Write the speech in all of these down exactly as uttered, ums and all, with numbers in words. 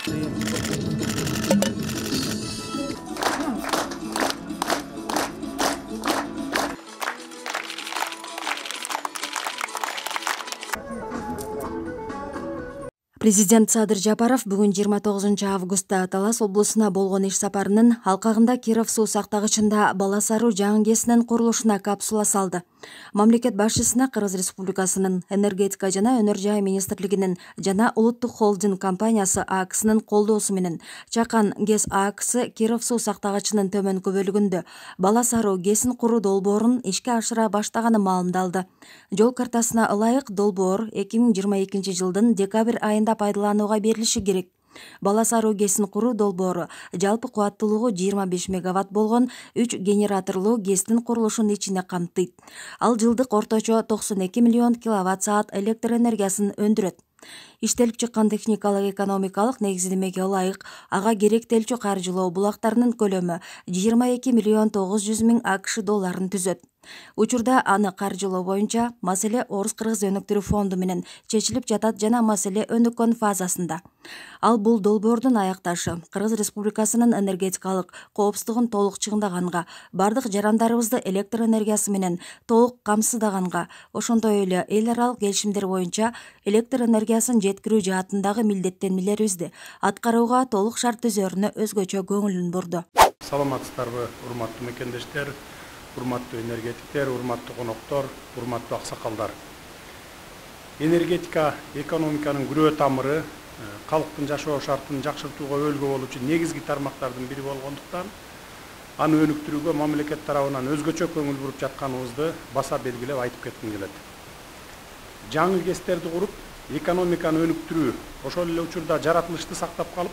Президент Садыр Жапаров бүгүн жыйырма тогузунчу августта Талас облусуна болгон иш сапарынын алкагында Киров суу сактагычында Балас Аруу жаңы КЭСинин курулушуна капсула салды. Мамлекет башчысына Кыргыз Республикасынын энергетика жана өнөр жай министрлигинин жана Улуттук холдинг компаниясы АКСынын колдоосу менен Чакан КЭС АКСы Киров суу сактагычынын төмөнкү бөлүгүндө Балас Аруу КЭСин куруу долбоорун ишке ашыра баштаганы маалымдалды. Жол картасына ылайык долбоор эки миң жыйырма экинчи жылдын декабрь айында пайдаланууга берилиши керек. Балас Аруу КЭСин куруу долбоору жалпы кубаттуулугу жыйырма беш мегаватт болгон үч генераторлуу КЭСтин курулушун ичине камтыйт. Ал жылдык орточо токсон эки миллион киловатт саат электр энергиясын өндүрөт. Иштелип чыккан техникалык экономикалык негиздемеге ылайык ага керектелчү каржылоо булактарынын көлөмү жыйырма эки миллион тогуз жүз миң АКШ долларын түзөт. Учурда аны каржылоо боюнча маселе Орус-Кыргыз өнүктүрүү фонду менен чечилип жатат жана маселе өнүккөн фазасында. Ал бул долбоордун аякташы Кыргыз Республикасынын энергетикалык коопсуздугун толук чыңдаганга, бардык жарандарыбызды электр энергиясы менен толук камсыздаганга, ошондой эле эл аралык келишимдер боюнча электр энергиясын жеткирүү жаатындагы милдеттенмелерибизди аткарууга толук шарт түзөрүнө өзгөчө көңүлүн бурду. Саламатсыздарбы, урматтуу мекендештер, урматтуу энергетиктер, урматтуу коноктор, урматтуу аксакалдар. Энергетика экономиканын күрөө тамыры, калктын жашоо шартын жакшыртууга өөлгө болуучу негизги тармактардын бири болгондуктан аны өнүктүрүүгө мамлекет тарабынан өзгөчө көңүл буруп жатканыбызды баса белгилеп айтып кетким келет. Жаңы КЭСтерди куруп, экономиканы өнүктүрүү, ошол эле учурда жаратылышты сактап калып,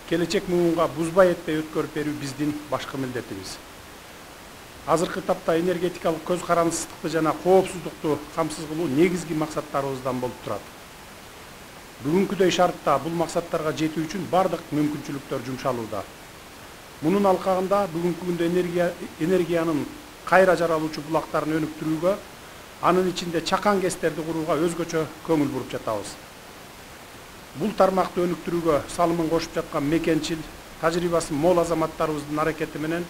келечек муунга бузбай этпей өткөрүп берүү биздин башкы милдетибиз. Азыркы тапта энергетикалык көз карандысыздыкты жана коопсуздукту камсыз кылуу негизги максаттарыбыздан болуп турат. Бүгүнкүдөй шартта бул максаттарга жетүү үчүн бардык мүмкүнчүлүктөр жумшалууда. Мунун алкагында бүгүнкү күндө энергия энергиянын кайра жаралуучу булактарын өнүктүрүүгө, анын ичинде Чакан КЭСтерди курууга өзгөчө көңүл буруп жатабыз. Бул тармакты өнүктүрүүгө салымын кошуп жаткан мекенчил, тажрыйбасы мол азаматтарыбыздын аракети менен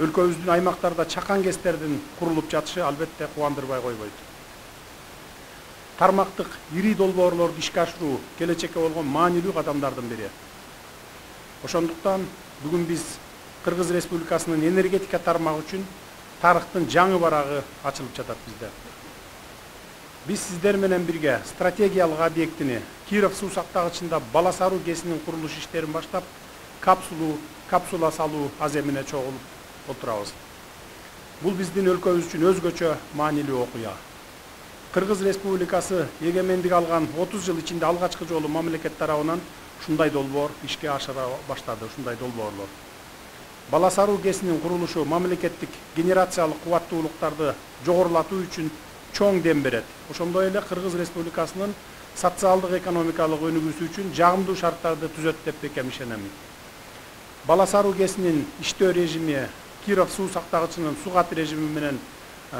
өлкөбүздүн аймактарда Чакан КЭСтердин курулуп жатышы албетте кубандырбай койбойт. Тармактык ири долбоорлорду ишке ашыруу келечекке болгон маанилүү кадамдардын бири. Ошондуктан бүгүн биз Кыргыз Республикасынын энергетика тармагы үчүн тарыхтын жаңы барагы ачылып жатат бизде. Биз сиздер менен бирге стратегиялык объектини Киров суу сактагычында Балас Аруу КЭСинин курулуш иштерин баштап, капсулу капсула салуу аземине чогулуп отурабыз. Бул биздин өлкөбүз үчүн өзгөчө маанилүү окуя. Кыргыз Республикасы эгемендик алган отуз жыл ичинде алгачкы жолу мамлекет тарабынан ушундай долбоор ишке ашыра баштады, ушундай долбоорлор. Балас Аруу КЭСинин курулушу мамлекеттик генерациялык кубаттуулуктарды жогорулатуу үчүн чоң дем берет. Ошондой эле Кыргыз Республикасынын социалдык экономикалык өнүгүүсү үчүн жагымдуу шарттарды түзөт деп бекем ишенем. Балас Аруу КЭСинин иштөө режими Киров суу сактагычынын сугат режими менен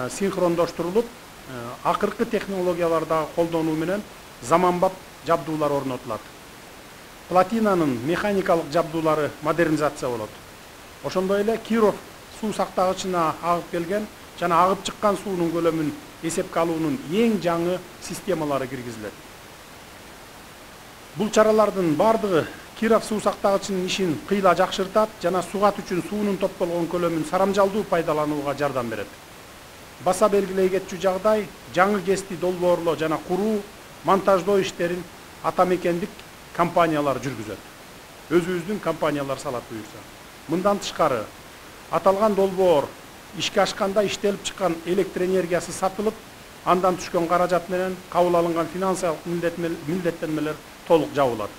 синхрондоштурулуп, акыркы технологиялардагы колдонуу менен заманбап жабдуулар орнотулат. Платинанын механикалык жабдуулары модернизация болот. Ошондой эле Киров суу сактагычына агып келген жана агып чыккан суунун көлөмүн эсепке алуунун эң жаңы системалары киргизилет. Бул чаралардын бардыгы Киров суу сактагычынын ишин кыйла жакшыртат жана сугат үчүн суунун топтолгон көлөмүн сарамжалдуу пайдаланууга жардам берет. Баса белгилей кетчү жагдай, жаңы КЭСти долбоорлоо жана куруу, монтаждоо иштерин атамекендик компаниялар жүргүзөт. Өзүбүздүн компаниялар салат буюрса. Мындан тышкары, аталган долбоор ишке ашканда иштелип чыккан электр энергиясы сатылып, андан түшкөн каражат менен кабыл алынган финансылык милдеттенмелер толук жабылат.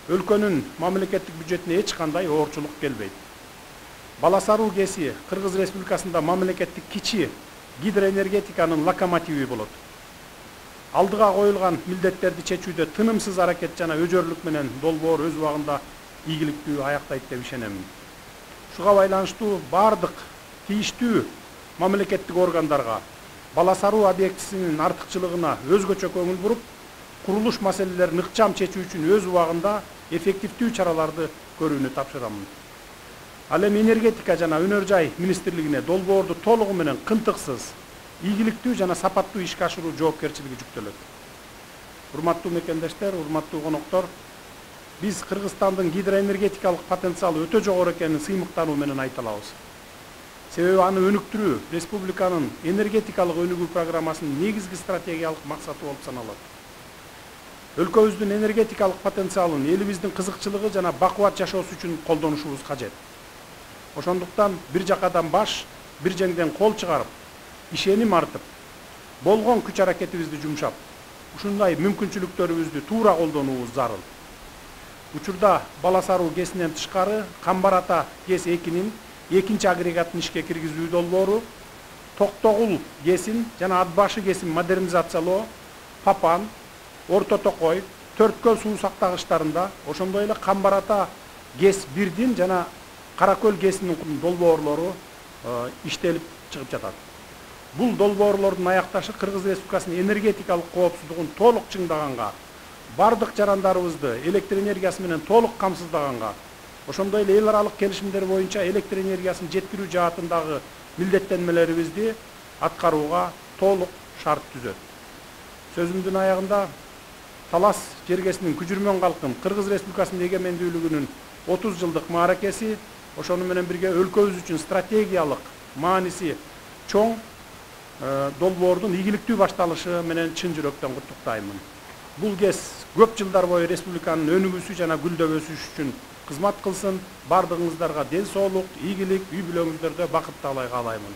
Өлкөнүн мамлекеттик бюджетине эч кандай оорчулук келбейт. Балас Аруу КЭСи Кыргыз Республикасында мамлекеттик кичи гидроэнергетиканын локомотиви болот. Алдыга коюлган милдеттерди чечүүдө тынымсыз аракет жана өжөрлүк менен долбоор өз убагында ийгиликтүү аяктайт деп ишенем. Шуга байланыштуу бардык тийиштүү мамлекеттик органдарга Балас Аруу объектисинин артыкчылыгына өзгөчө көңүл буруп, курулуш маселелерин ыкчам чечүү үчүн өз убагында эффективдүү чараларды көрүүнү тапшырамын. Ал эми энергетика жана өнөр жай министрлигине долбоорду толугу менен кынтыксыз, ийгиликтүү жана сапаттуу ишке ашыруу жоопкерчилиги жүктөлөт. Урматтуу мекендештер, урматтуу коноктор, биз Кыргызстандын гидроэнергетикалык потенциалы өтө жогору экенин сыймыктануу менен айта алабыз. Себеби аны өнүктүрүү республиканын энергетикалык өнүгүү программасынын негизги стратегиялык максаты болуп саналат. Өлкөбүздүн энергетикалык потенциалын элибиздин кызыкчылыгы жана бакубат жашоосу үчүн колдонушубуз кажет. Ошондуктан бир жакадан баш, бир жеңден кол чыгарып, ишеним артып, болгон күч аракетибизди жумшап, ушундай мүмкүнчүлүктөрүбүздү туура колдонуубуз зарыл. Учурда Баласаруу ГЭСинен тышкары Камбар Ата ГЭС экинин экинчи агрегатын ишке киргизүү долбоору, Токтогул ГЭСин жана Атбашы ГЭСин модернизациялоо, Папан, Орто Токой, Төрткөл суу сактагычтарында, ошондой эле Камбар Ата ГЭС бирдин жана Каракөл ГЭСинин долбоорлору иштелип чыгып жатат. Бул долбоорлордун аякташы Кыргыз Республикасынын энергетикалык коопсуздугун толук чыңдаганга, бардык жарандарыбызды электр энергиясы менен толук камсыздаганга, ошондой эле эл аралык келишимдер боюнча электр энергиясын жеткирүү жаатындагы милдеттенмелерибизди аткарууга толук шарт түзөт. Сөзүмдүн аягында Талас жергесинин күжүрмөн калкын Кыргыз Республикасынын эгемендүүлүгүнүн отуз жылдык мааракеси, ошону менен бирге өлкөбүз үчүн стратегиялык мааниси чоң долбоордун ийгиликтүү башталышы менен чын жүрөктөн куттуктаймын. Бул ГЭС көп жылдар бою республиканын өнүгүүсү жана гүлдөп өсүшү үчүн кызмат кылсын. Бардыгыңыздарга ден соолук, ийгилик, үй бүлөңүздөрдө бакыт таалай каалаймын.